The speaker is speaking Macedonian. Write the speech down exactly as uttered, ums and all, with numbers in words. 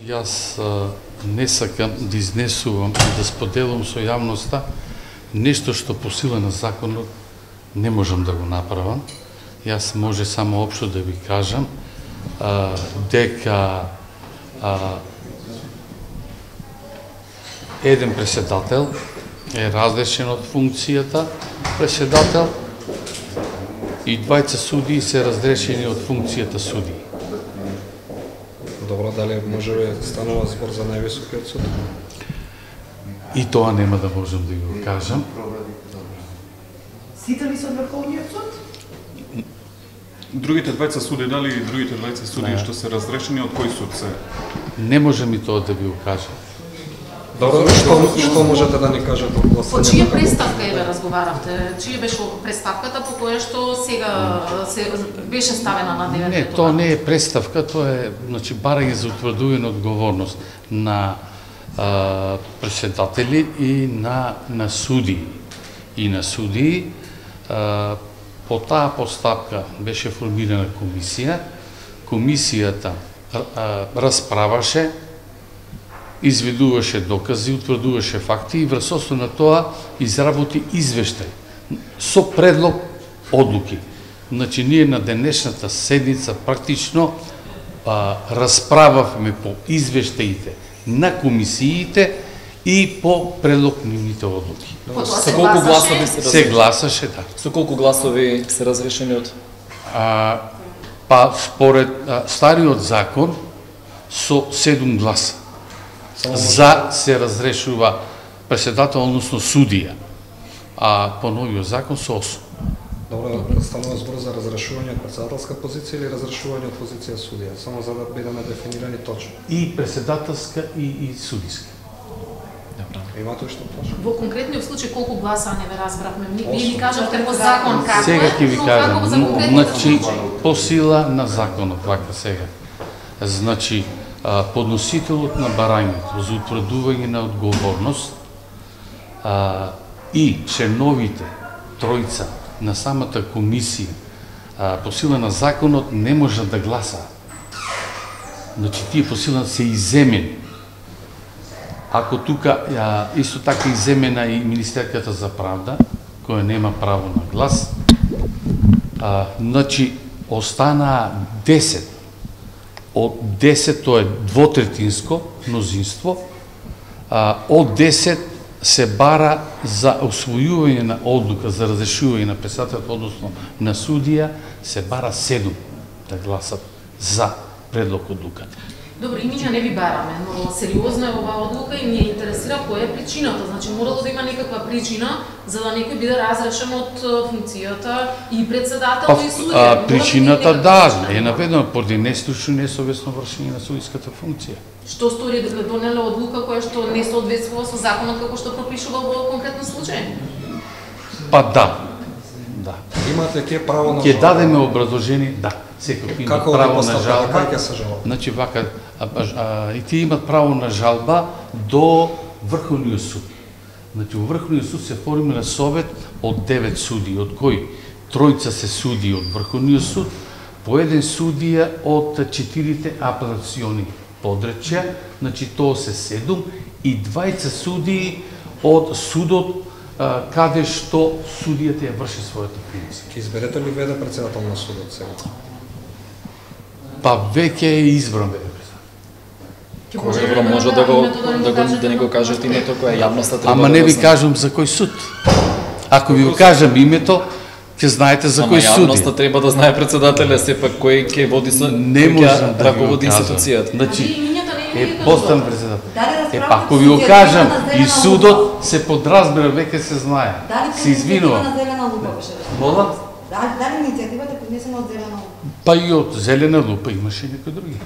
Јас а, не сакам да изнесувам и да споделам со јавноста нешто што по сила на законот не можам да го направам. Јас може само општо да ви кажам а, дека а, еден преседател е разрешен од функцијата преседател и двајца судии се разрешени од функцијата судии. Добро, дали може би станува збор за највисокиот суд? И тоа нема да можам да го кажам. Сите ли се од Врховниот суд? Другите двајца суди, дали и другите двајца суди што се разрешени, од кој суд се? Не можам и тоа да ви го кажам. Добро, што, што можете да ни кажете од гласањето? По чија преставка еве разговаравте? Чија беше преставката по која што сега се беше ставена на дневен ред? Не, тоа не е преставка, тоа е значи барање за утврдување одговорност на а, преседатели и на на судии. И на судии а, по таа постапка беше формирана комисија. Комисијата а, расправаше, изведуваше докази, утврдуваше факти и врз основа на тоа изработи извештај со предлог одлуки. Значи, ние на денешната седница практично а, расправавме по извештаите на комисиите и по предлог нивните одлуки. Со колку гласови се се гласаше, да. Со колку гласови се разрешени од? А, па според а, стариот закон со седум гласа. За се разрешува преседател, односно судија, а по новиот закон со осум. Добро, станува збор за разрешување од председателска позиција или разрешување од позиција судија, само за да бидеме дефинирани точно. И преседателска и, и судиска. Имате што точно? Во конкретниот случај колку гласа не ве разбравме? Вие ни кажавте по закон како е? Сега ќе ви но кажам, како за конкретниот значи случај? по сила на законот, вака сега. Значи подносителот на барањето за утврдување на одговорност а, и членовите тројца на самата комисија а, по сила на законот не можат да гласаат. Значи тие по сила се иземени. Ако тука а, исто така иземена и Министерката за правда, која нема право на глас, а, значи останаа десет. Од десет тоа е двотретинско мнозинство, а, од десет се бара за освојување на одлука за разрешување на председателот, односно на судија, се бара седум да гласат за предлог одлуката. Добро, и ние не ви бараме, но сериозно е оваа одлука и ние интересира која е причината. Значи, морало да има некаква причина за да некој биде разрешен од функцијата и председател Па, и судија. а, причината да, е наведено поради нестручно несовесно вршење на судиската функција. Што стори да донеле одлука која што не соодветствува со законот како што пропишува во конкретен случај? Па да. Да. Имате ли тие право на Ќе жалба? дадеме образложение, да. Секој има Како право на постапка, жалба. кај ќе се жалба? Значи вака, а, а, и тие имат право на жалба до Врховниот суд. Значи во Врховниот суд се формира совет од девет судии, од кои тројца се судии од Врховниот суд, по еден судија од четирите апелациони подречја, значи тоа се седум и двајца судии од судот а, каде што судијата ја врши својата функција. Ќе изберете ли веде председател на судот сега? Па веќе е избран бе. Добро, може да го да го да ни го кажете името кое јавноста треба. Ама да не го ви знае. кажам за кој суд. Ако ви го кажам името, ќе знаете за Ама кој суд. јавноста треба да знае председателя, сепак кој ќе води со Не кој можам ќе да ви го раководи кажам. институцијата. Значи, Имињата не е ви ги постан кажувам. председател. Дали Е расправата па ако ви го судија кажам на и зелена судот лупа? се подразбира, веќе се знае. Дали Се извинувам. на зелена лупа беше? Мола? Дали, дали иницијативата е поднесена од зелена лупа? Па и од зелена лупа имаше некои други.